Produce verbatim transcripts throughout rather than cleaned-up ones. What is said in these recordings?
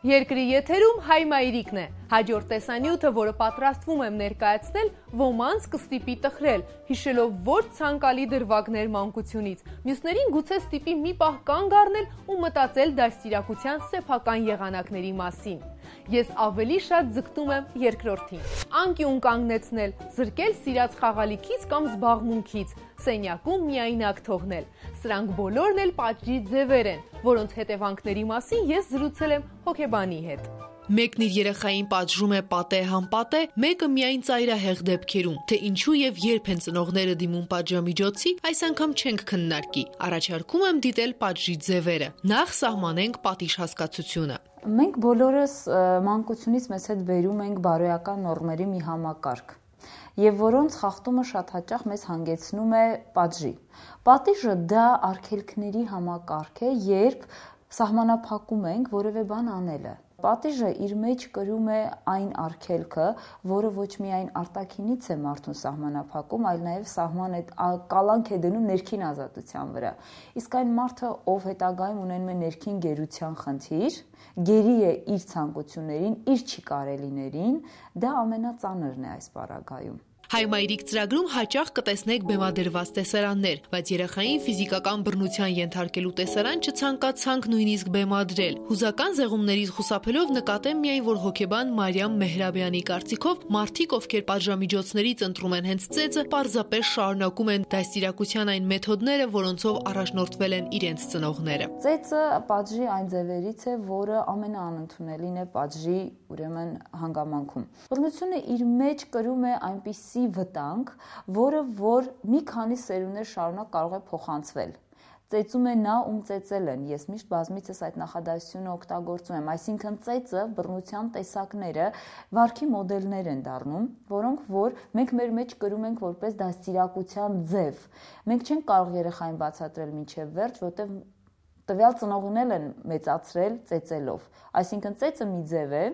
Երկրի եթերում հայ մայրիկն է, հաջորդ տեսանյութը, որը պատրաստվում եմ ներկայացնել, ոմանց կստիպի տխրել, հիշելով ոչ ցանկալի դրվագներ մանկությունից, մյուսներին գուցե ստիպի մի պահ կանգ առնել ու մտածել դաստիարակության սեփական եղանակների մասին։ Ես ավելի շատ ձգտում եմ երկրորդին։ Անկյուն կանգնեցնել, զրկել սիրած խաղալիքից կամ զբաղմունքից, սենյակում միայնակ թողնել։ Սրանք բոլորն էլ պատժի ձևեր են, որոնց հետևանքների մասին ես զրուցել եմ հոգեբանի հետ։ Մեկն իր երեխային պատժում է պատե համպատե, մեկը միայն ծայրահեղ դեպքերում, թե ինչու եւ երբ են ծնողները դիմում պատժամիջոցի, այս անգամ չենք քննարկի։ Առաջարկում եմ դիտել պատժի ձևերը։ Նախ սահմանենք պատիժ հասկացությունը։ Մենք բոլորս մանկությունից մեզ հետ բերում ենք բարոյական նորմերի մի համակարգ, եւ որոնց խախտումը շատ հաճախ մեզ հանգեցնում է պատժի։ Պատիժը դա արգելքների համակարգ է, երբ սահմանափակում ենք որևէ բան անելը։ Պատիժը իր մեջ կրում է այն արգելքը, որը ոչ միայն արտաքինից է մարդուն սահմանափակում, այլ նաև սահման է կալանք է դնում ներքին ազատության վրա։ Իսկ այն մարդը, ով հետագայում ունենում է ներքին գերության խնդիր, գերի է իր ցանկություններին, իր չի կարելիներին, դա ամենածանրն է այս պարագայում։ Հայ մայրիկ ծրագրում հաճախ կտեսնեք բեմադրված տեսարաններ, բայց երեխային ֆիզիկական բռնության ենթարկելու տեսարան չցանկացանք նույնիսկ բեմադրել։ Հուզական զեղումներից խուսափելով նկատեմ միայն, որ հոգեբան Մարիամ Մեհրաբյանի կարծիքով մարդիկ, ովքեր պատժամիջոցներից ընտրում են հենց ծեծը, պարզապես շարունակում են դաստիարակության այն մեթոդները, որոնցով առաջնորդվել են իրենց ծնողները։ Ծեծը պատժի այն ձևերից է, որը ամենաանընդունելին է պատժի, ուրեմն, հանգամանքում։ Բռնությունը իր մեջ կրում է այնպիսի վտանգ, որը որ մի քանի սերունդներ շարունակ կարող է փոխանցվել։ Ծեծում է նա, ում ծեծել են։ Ես միշտ բազմիցս այդ նախադասությունը օգտագործում եմ, այսինքն ծեծը, բռնության տեսակները վարքի մոդելներ են դառնում, որոնք որ մենք մեր մեջ կրում ենք որպես դաստիարակության ձև։ Մենք չենք կարող երեխային բացատրել մինչև վերջ, որտեղ տվյալ ծնողն էլ են մեծացրել ծեծելով։ Այսինքն ծեծը մի ձև է,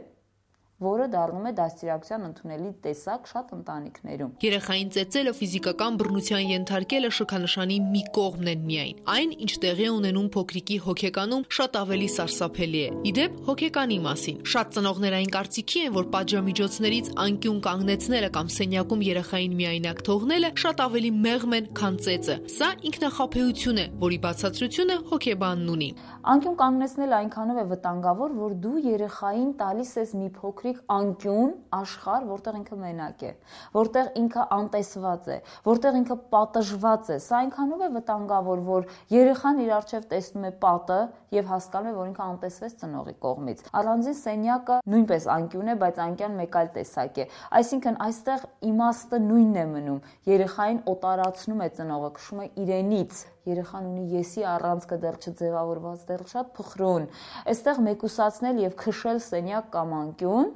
որը դառնում է դաստիարակության ընդունելի տեսակ շատ ընտանիքներում։ Երեխային ծեծելը ֆիզիկական բռնության ենթարկելը շքանշանի մի կողմն են միայն։ Այն, ինչ տեղի է ունենում փոքրիկի հոգեկանում, շատ ավելի սարսափելի է։ Իդեպ հոգեկանի մասին։ Շատ ծնողներ այն կարծիքի են, որ պատժամիջոցներից անկյուն կանգնեցնելը կամ սենյակում երեխային միայնակ թողնելը շատ ավելի մեղմ են, քան ծեծը։ Սա ինքնախաբեություն է, որի բացատրությունը հոգեբանն ունի։ Անկյուն կանգնեցնելը այնքանով է վտանգավոր, որ դու երեխային տալիս ես մի փոքրիկ անկյուն աշխարհ, որտեղ ինքը մենակ է, որտեղ ինքը անտեսված է, որտեղ ինքը պատժված է։ Սա այնքանով է վտանգավոր, որ երեխան իր առջև տեսնում է պատը եւ հասկանում է, որ ինքը անտեսվեց ծնողի կողմից։ Առանձին սենյակը նույնպես անկյուն է, բայց անկյան մեկ այլ տեսակ է։ Այսինքն այստեղ իմաստը նույնն է մնում։ Երեխային օտարացնում է ծնողը, քշում է իրենից։ Երեխան ունի եսի առանցքը դեռ չձևավորված, դեռ շատ փխրուն։ Այստեղ մեկուսացնել եւ քշել սենյակ կամ անկյուն,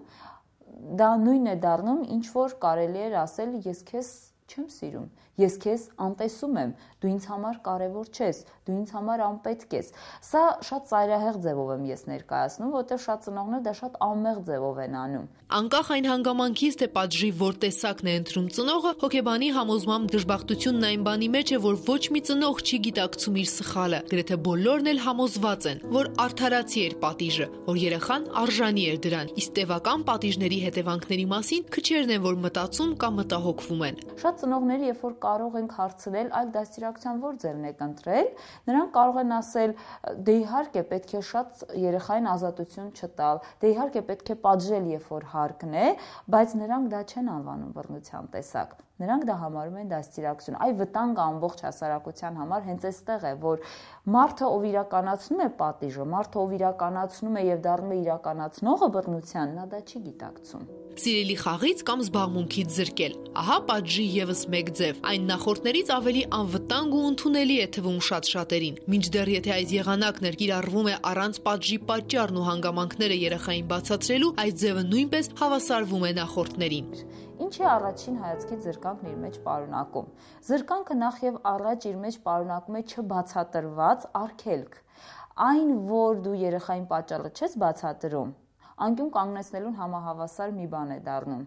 դա նույնն է դառնում, ինչ որ կարելի է ասել, ես քեզ չեմ սիրում, ես քեզ անտեսում եմ, դու ինձ համար կարևոր չես, դու ինձ համար անպետք ես։ Սա շատ ծայրահեղ ձևով եմ ես ներկայացնում, որտեղ շատ ծնողներ դա շատ անմեղ ձևով են անում։ Անկախ այն հանգամանքից, թե պատժի որ տեսակն է ընտրում ծնողը, հոգեբանի համոզմամբ դժբախտությունն այն բանի մեջ է, որ ոչ մի ծնող չի գիտակցում իր սխալը։ Գրեթե բոլորն էլ համոզված են, որ արդարացի էր պատիժը, որ երեխան արժանի էր դրան, իսկ տևական պատիժների հետևանքների մասին քչերն են, որ մտածում կամ մտահոգվում են։ Շատ ծնողները, երբ որ կարող ենք հարցնել, այլ դաստիարակության որ ձևն եք ընտրել, նրանք կարող են ասել, դե իհարկե պետք է շատ երեխային ազատություն չտալ, դե իհարկե պետք է պատժել, երբ որ հարկն է, բայց նրանք դա չեն անվանում բռնության տեսակ։ Նրանք դա համարում են դաստիարակություն։ Այ վտանգը ամբողջ հասարակության համար հենց այստեղ է, որ մարդը, ով իրականացնում է պատիժը, մարդը, ով իրականացնում է եւ դառնում է իրականացնողը բռնության, նա դա չի գիտակցում։ Սիրելի խաղից կամ զբաղմունքից զրկել։ Ահա պատժի եւս մեկ ձև։ Այն նախորդներից ավելի անվտանգ ու ընդունելի է թվում շատ շատերին։ Մինչդեռ եթե այս եղանակն էր կիրառվում է առանց պատժի պատճառն ու հանգամանքները երեխային բացատրելու, այս ձևը նույնպես հավասարվում է նախորդներին։ Ինչ է առաջին հայացքից զրկանքն իր մեջ պարունակում։ Զրկանքը նախ եւ առաջ իր մեջ պարունակում է չբացատրված արգելք։ Այն, որ դու երեխային պատճառը չես բացատրում, անկյուն կանգնեցնելուն համահավասար մի բան է դառնում։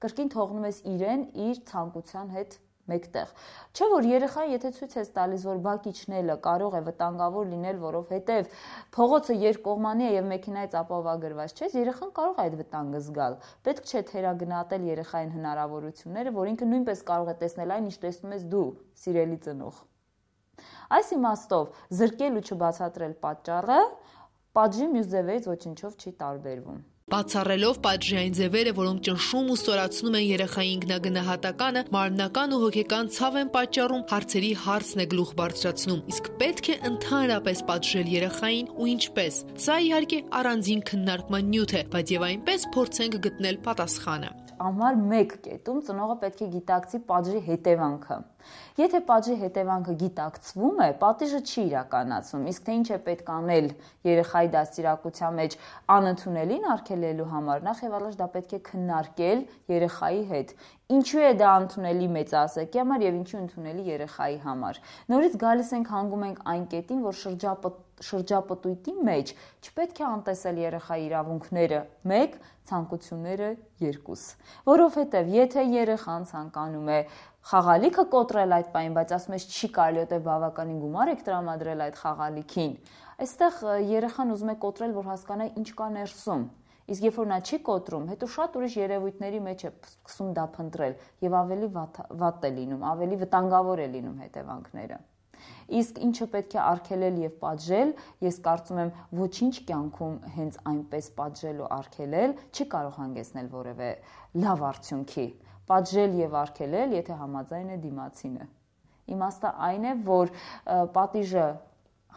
Կրկին թողնում ես իրեն իր ցանկության հետ մեկտեղ։ Չէ՞ որ երեխային եթե ցույց ես տալիս, որ բակի չնելը կարող է վտանգավոր լինել, որովհետև փողոցը երկկողմանի է եւ մեքենայից ապահովագրված չէ, երեխան կարող է այդ վտանգը զգալ։ Պետք չէ թերագնահատել երեխային հնարավորությունները, որ ինքը նույնպես կարող է տեսնել այն, ինչ տեսնում ես դու, սիրելի ծնող։ Այս իմաստով զրկել ու չբացատրել պատճառը պատժի մյուս ձևերից ոչինչով չի տարբերվում։ Բացառելով պատժային ձևերը, որոնք ճնշում ու ստորացնում են երեխայի ինքնագնահատականը, մարմնական ու հոգեկան ցավ են պատճառում, հարցերի հարցն է գլուխ բարձրացնում, իսկ պետք է ընդհանրապես պատժել երեխային ու ինչպես։ Սա իհարկե առանձին քննարկման նյութ է, բայց եւ այնպես փորձենք գտնել պատասխանը։ Ամառ մեկ կետում ծնողը պետք է գիտակցի պատժի հետևանքը։ Եթե պատժի հետևանքը գիտակցվում է, պատիժը չի իրականացվում, իսկ թե ինչ է պետք անել երեխայի դաստիարակության մեջ անընդունելին արգելելու համար, նախ եւ առաջ դա պետք է քննարկել երեխայի հետ։ Ինչու է դա ընդունելի մեծահասակի համար եւ ինչու ընդունելի երեխայի համար։ Նորից գալիս ենք հանգում ենք այն կետին, որ շրջապտ շրջապտույտի մեջ չպետք է անտեսել երեխայի իրավունքները մեկ, ցանկությունները երկուս, որովհետև եթե երեխան ցանկանում է խաղալիքը կոտրել այդ պահին, բայց ասում ես չի կարելի, որտեղ բավականին գումար եք տրամադրել այդ խաղալիքին, այստեղ երեխան ուզում է կոտրել, որ հասկանա ինչ կա ներսում, իսկ երբ որ նա չի կոտրում, հետո շատ ուրիշ երևույթների մեջ է սկսում դա փնտրել եւ ավելի վատ է լինում, ավելի վտանգավոր է լինում հետևանքները։ Իսկ ինչը պետք է արգելել եւ պատժել, ես կարծում եմ ոչինչ կյանքում հենց այնպես պատժել ու արգելել չի կարող հանգեցնել որևէ լավ արդյունքի։ Պատժել եւ արգելել, եթե համաձայն է դիմացինը։ Իմաստը այն է, որ պատիժը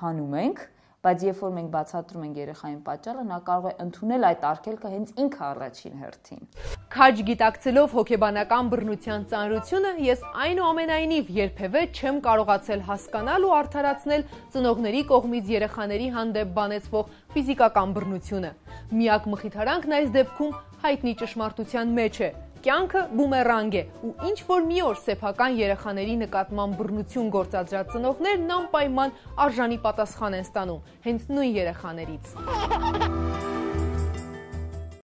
հանում ենք, բայց երբ որ մենք բացատրում ենք երեխային պատճառը, նա կարող է ընդունել այդ արգելքը հենց ինքը առաջին հերթին։ Քաջ գիտակցելով հոգեբանական բռնության ծանրությունը, ես այնուամենայնիվ երբևէ չեմ կարողացել հասկանալ ու արդարացնել ծնողների կողմից երեխաների հանդեպ բանեցվող ֆիզիկական բռնությունը։ Միակ մխիթարանքն այս դեպքում հայտնի ճշմարտության մեջ է։ Կյանքը բումերանգ է, ու ինչ որ մի օր սեփական երեխաների նկատմամբ բռնություն գործադրած ծնողներն անպայման արժանի պատասխան են ստանում հենց նույն երեխաներից։